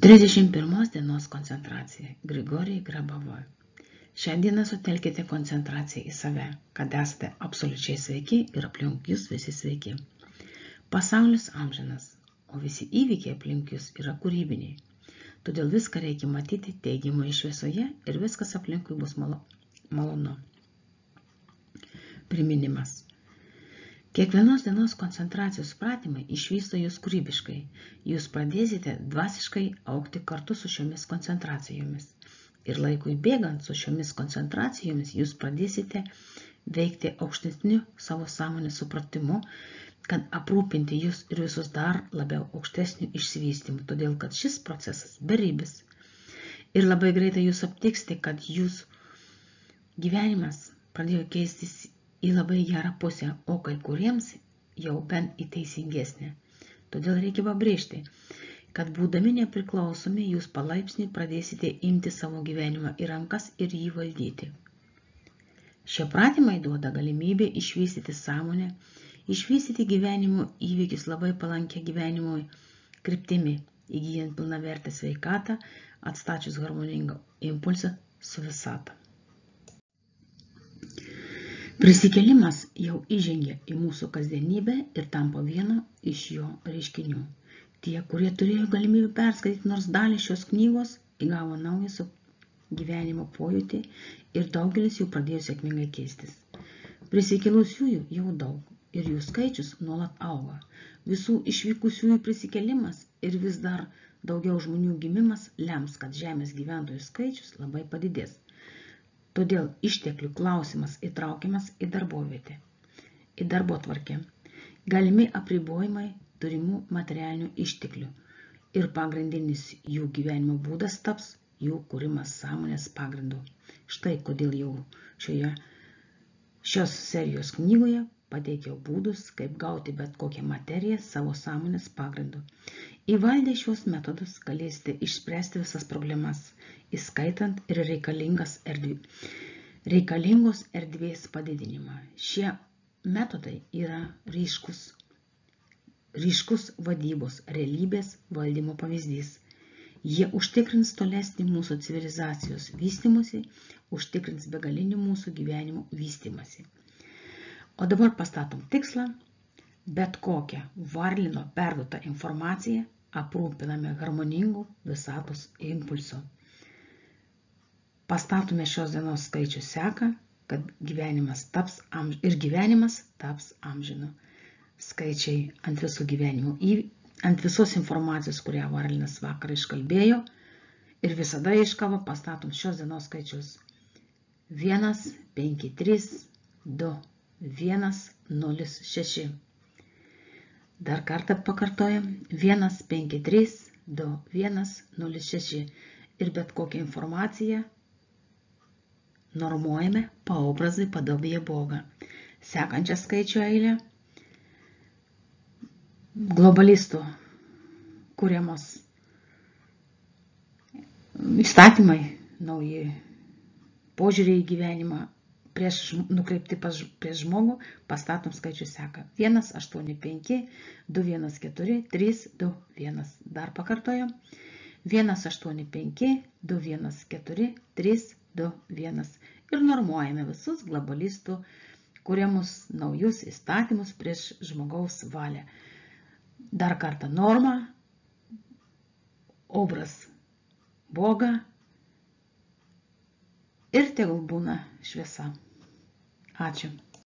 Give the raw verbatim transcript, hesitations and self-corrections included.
trisdešimt pirmos dienos koncentracija. Grigorijai Grabovoi. Šią dieną sutelkite koncentraciją į save, kad esate absoliučiai sveiki ir aplink jūs visi sveiki. Pasaulis amžinas, o visi įvykiai aplink jūs yra kūrybiniai. Todėl viską reikia matyti teigiamoje šviesoje ir viskas aplinkui bus malo, malonu. Priminimas. Kiekvienos dienos koncentracijos pratimai išvysto jūs kūrybiškai. Jūs pradėsite dvasiškai augti kartu su šiomis koncentracijomis. Ir laikui bėgant su šiomis koncentracijomis jūs pradėsite veikti aukštesniu savo sąmonės supratimu, kad aprūpinti jūs ir visus dar labiau aukštesniu išsivystymu, todėl kad šis procesas beribis. Ir labai greitai jūs aptiksite, kad jūsų gyvenimas pradėjo keistis į labai gerą pusę, o kai kuriems jau bent į teisingesnę. Todėl reikia pabrėžti, kad būdami nepriklausomi jūs palaipsniui pradėsite imti savo gyvenimą į rankas ir jį valdyti. Šie pratimai duoda galimybę išvystyti sąmonę, išvystyti gyvenimo įvykius labai palankę gyvenimui kryptimi, įgyjant pilnavertę sveikatą, atstačius harmoningą impulsą su visata. Prisikėlimas jau įžengia į mūsų kasdienybę ir tampa vieno iš jo reiškinių. Tie, kurie turėjo galimybę perskaityti nors dalį šios knygos, įgavo naują gyvenimo pojūtį ir daugelis jų pradėjo sėkmingai keistis. Prisikėlusiųjų jau daug ir jų skaičius nuolat auga. Visų išvykusiųjų prisikėlimas ir vis dar daugiau žmonių gimimas lems, kad žemės gyventojų skaičius labai padidės. Todėl išteklių klausimas įtraukiamas į darbovietę, į darbotvarkę, galimi apribojimai turimų materialinių išteklių ir pagrindinis jų gyvenimo būdas taps jų kūrimas sąmonės pagrindu. Štai kodėl jau šioje šios serijos knygoje pateikiau būdus, kaip gauti bet kokią materiją savo sąmonės pagrindu. Įvaldę šios metodus galėsite išspręsti visas problemas, įskaitant ir reikalingas erdvė, reikalingos erdvės padidinimą. Šie metodai yra ryškus, ryškus vadybos realybės valdymo pavyzdys. Jie užtikrins tolesnį mūsų civilizacijos vystymąsi, užtikrins begalinį mūsų gyvenimo vystymąsi. O dabar pastatom tikslą, bet kokią Varlino perduotą informaciją aprūpiname harmoningų visatos impulsų. Pastatome šios dienos skaičių seką, kad gyvenimas taps amž... ir gyvenimas taps amžinu. Skaičiai ant visų gyvenimų, ant visos informacijos, kurią Varlinas vakar iškalbėjo, ir visada iškavo pastatom šios dienos skaičius. vienas, penki, trys, du, vienas, nulis, šeši. Dar kartą pakartojam. vienas, penki, trys, du, vienas, nulis, šeši. Ir bet kokią informaciją normuojame paobrazai padovėje Bogą. Sekančią skaičių eilę globalistų kuriamos įstatymai, nauji požiūriai į gyvenimą, prieš, nukreipti pas, prieš žmogų, pastatom skaičių seką. vienas, aštuoni, penki, du, vienas, keturi, trys, du, vienas. Dar pakartojam. vienas, aštuoni, penki, du, vienas, keturi, trys, du, vienas. Ir normuojame visus globalistų kuriamus naujus įstatymus prieš žmogaus valią. Dar kartą norma, obraz Bogą ir tegul būna šviesa. Ačiū.